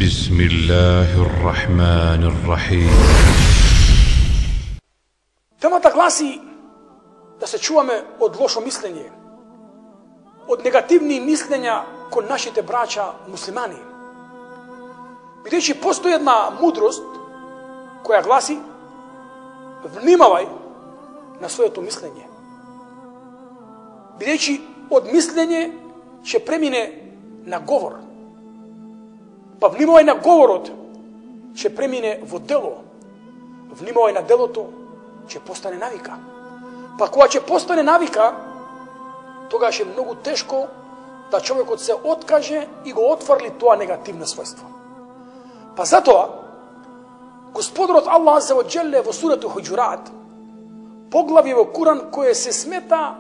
بسم الله الرحمن الرحيم. Темата гласи да се чуваме од лошо мислење, од негативни мислења кон нашите браќа муслимани. Бидејќи постои една мудрост која гласи: внимавај на своето мислење. Бидејќи од мислење ќе премине на говор. Па внимавај на говорот, ќе премине во дело. Внимавај на делото, ќе постане навика. Па кога ќе постане навика, тогаш е многу тешко да човекот се откаже и го отфрли тоа негативно својство. Па затоа, Господарот Аллах Азза ва Џелле во сурата Хуџурат, поглавје во Куран кое се смета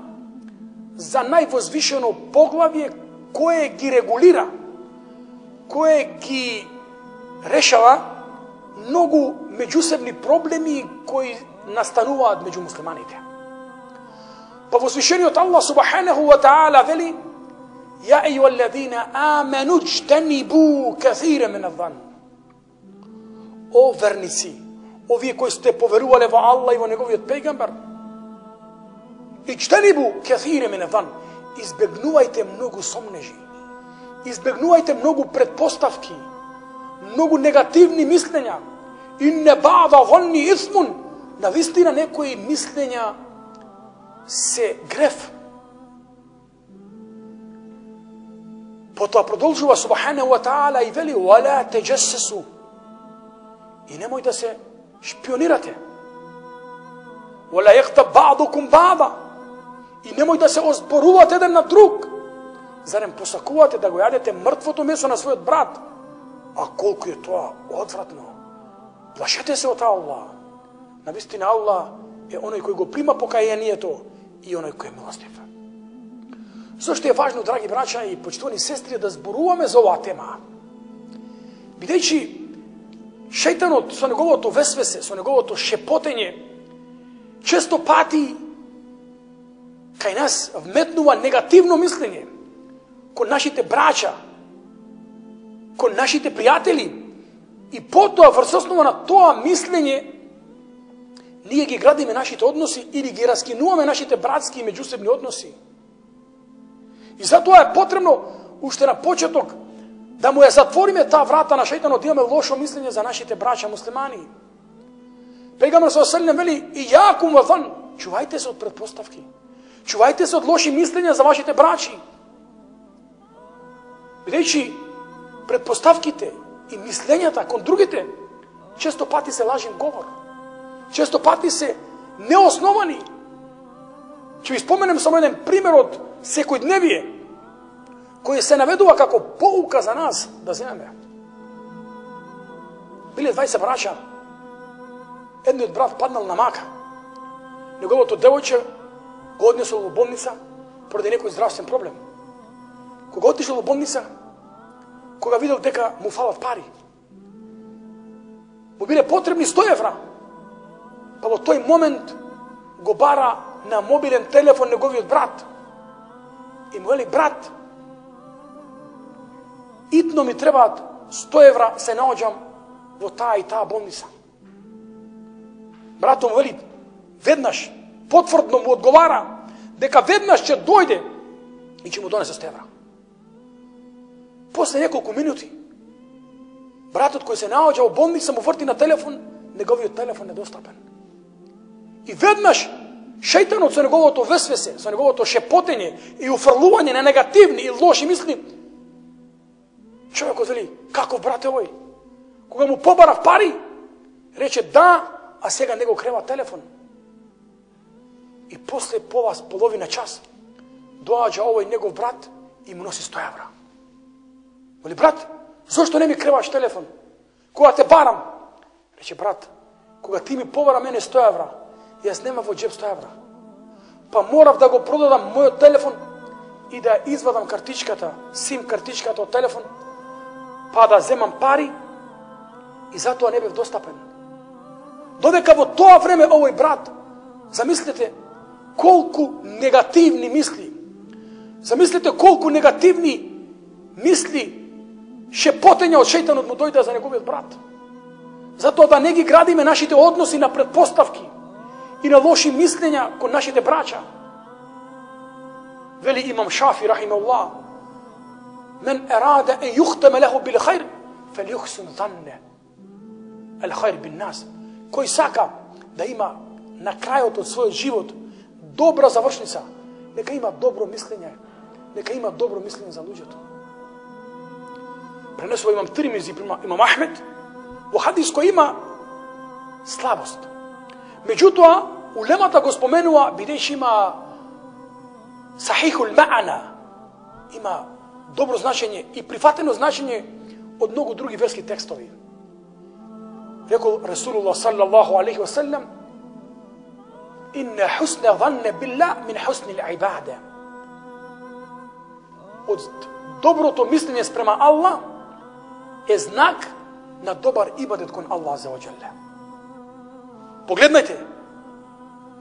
за највозвишено поглавје кое ги регулира, кое ги решава многу меѓусебни проблеми кои настануваат меѓу муслиманите. Па возвишениот Аллах субханаху ва таала вели: ја ејуаллазина амену џтанибу касира мин адзан. О верници, овие кои сте поверувале во Аллах и во неговиот пејгамбер, иџтанибу касира мин адзан, избегнувајте многу сомнежи, избегнувајте многу предпоставки, многу негативни мислења. Инне баъда ظنّ исмун, навистина некои мислења се греф. Потоа продолжува субханаху ва таала и вели: вала теџессесу, и немој да се шпионирате. Вала јехтаб баъдукум баъда, и немој да се озборувате еден на друг. Зарем посакувате да го јадете мртвото месо на својот брат? А колку е тоа одвратно! Плашете се од Аллах. Навистина Аллах е оној кој го прима покајанието и оној кој е милостив. Зошто е важно, драги браќа и почитувани сестри, да зборуваме за оваа тема? Бидејќи шејтанот со неговото весвесе, со неговото шепотење, често пати кај нас вметнува негативно мислење кон нашите браќа, кон нашите пријатели, и потоа врз основа на тоа мислење ние ги градиме нашите односи или ги раскинуваме нашите братски и меѓусебни односи. И затоа е потребно уште на почеток да му ја затвориме таа врата на шејтанот, да имаме лошо мислење за нашите браќа муслимани. Пејгамбер саллаллаху алейхи ва саллем вели: и јакум ва зан, чувајте се од претпоставки, чувајте се од лоши мислења за вашите браќи. Бидејќи претпоставките и мислењата кон другите често пати се лажен говор, често пати се неосновани. Ќе ви споменем само еден пример од секојдневие, кој се наведува како поука за нас да земеме. Биле 20 браќа, едниот брат паднал на мака, неговото девојче го однесол во болница поради некој здравствен проблем. Кога отишол во болница, кога видел дека му фалат пари, му биле потребни 100 евра, па во тој момент го бара на мобилен телефон неговиот брат и му вели: брат, итно ми требаат 100 евра, се наоѓам во таа и таа болница. Братот му вели веднаш, потврдно му одговара дека веднаш ќе дојде и ќе му донесе 100 евра. После неколку минути, братот кој се наоѓа во болница му врти на телефон, неговиот телефон недостапен. И веднаш шејтанот со неговото весвесе, со неговото шепотење и уфрлување на негативни и лоши мисли, човекот вели: каков брат е овој? Кога му побарав пари, рече да, а сега не го крева телефон. И после половина час доаѓа овој негов брат и му носи 100 евра. Вели: брат, зошто не ми креваш телефон? Кога те барам? Рече: брат, кога ти ми побара мене 100 евра, јас нема во джеб 100 евра. Па морав да го продадам мојот телефон и да извадам картичката, сим картичката од телефон, па да земам пари, и затоа не бев достапен. Додека во тоа време овој брат, замислете колку негативни мисли, замислете колку негативни мисли шепотења од шејтанот му дојде за неговиот брат. Затоа да не ги градиме нашите односи на предпоставки и на лоши мислења кон нашите браќа. Вели имам Шафи рахимахуллах: "Мен арада ан юхтама лаху бил хајр, фалюхсин занна ал хајр бин нас." Кој сака да има на крајот од својот живот добра завршница, нека има добро мислење, нека има добро мислење за луѓето. Пренесува имам Тирмизи, имам Ахмед, во хадис кој има слабост. Меѓутоа, улемата го споменува бидејќи има сахихул ма'ана, има добро значење и прифатено значење од многу други верски текстови. Рекол Расулуллах саллаллаху алейхи ва саллям: "Инна хусна занна биллах мин хусни ал-ибада." Од доброто мислење спрема Аллах е знак на добар ибадет кон Аллах азza ва џалла. Погледнете,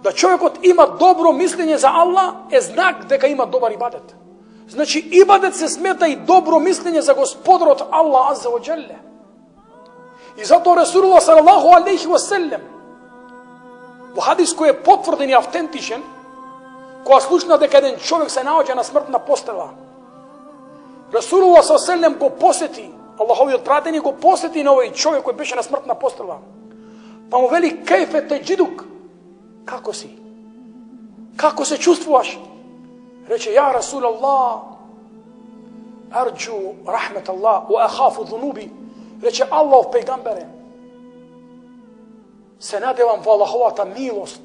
да човекот има добро мислење за Аллах е знак дека има добар ибадет. Значи ибадет се смета и добро мислење за Господарот Аллах азza ва џалла. И затоа Расулуллах салаллаху алейхи ва саллям во хадис кој е потврден и автентичен, кога слушна дека еден човек се наоѓа на смртна постела, Расулуллах салаллаху алейхи ва саллям го посети, Аллаховиот пратеник го посети на овој човек кој беше на смртна постела. Па му вели: "Кајфе теџидук?" Како си? Како се чувствуваш? Рече: "Ја Расулаллах, арџу рахмет Аллах ва ахафу ذунуби." Рече: "Аллах пејгамбере, се надевам во Аллаховата милост,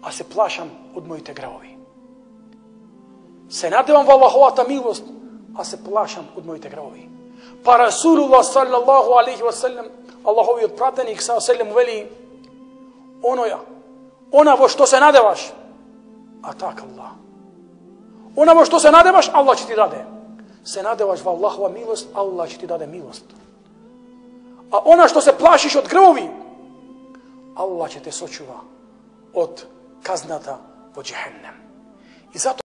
а се плашам од моите гревови." Се надевам во Аллаховата милост, а се плашам од моите гревови. Па Расулуллах саллаллаху алейхи ва саллям, Аллаховиот пратеник саллаллаху алейхи ва саллям вели: "Она во што се надеваш, атак Аллах. Она во што се надеваш, Аллах ќе ти даде. Се надеваш во Аллахова милост, Аллах ќе ти даде милост. А она што се плашиш од гревови, Аллах ќе те сочува од казната во џехеннем." И затоа